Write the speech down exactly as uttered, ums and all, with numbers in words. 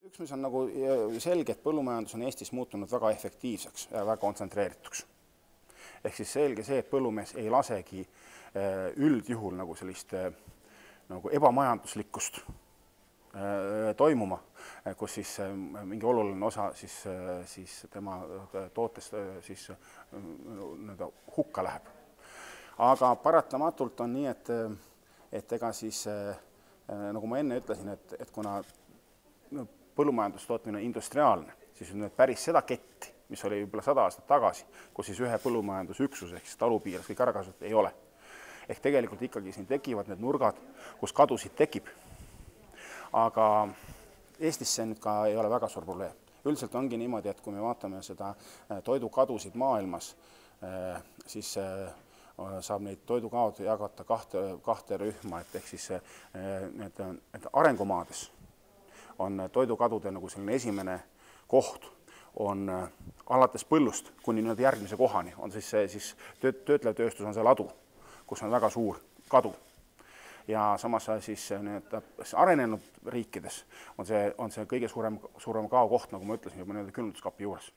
Üks, mis on nagu selge, et põllumajandus on Eestis muutunud väga efektiivseks ja väga kontsentreerituks. Ehk siis selge see, et põllumees ei lasegi üldjuhul nagu sellist nagu ebamajanduslikkust toimuma, kus siis mingi oluline osa siis, siis tema tootest siis hukka läheb. Aga paratamatult on nii, et, et ega siis, nagu ma enne ütlesin, et, et kuna põllumajandustootmine on industriaalne, siis on päris seda ketti, mis oli võib-olla sada aastat tagasi, kus siis ühe põllumajandusüksus ehk siis talupiires kõik ära kasutada ei ole. Ehk tegelikult ikkagi siin tekivad need nurgad, kus kadusid tekib. Aga Eestis see nüüd ka ei ole väga suur probleem. Üldiselt ongi niimoodi, et kui me vaatame seda toidukadusid maailmas, siis saab neid toidukaod jagata kahte, kahte rühma, et ehk siis need, need arengumaades on toidukadude nagu selline esimene koht, on alates põllust kuni nüüd järgmise kohani, on siis, see, siis töötlev tööstus on see ladu, kus on väga suur kadu. Ja samas siis need arenenud riikides on see, on see kõige suurem, suurem kao koht, nagu ma ütlesin, juba külmutuskapi juures.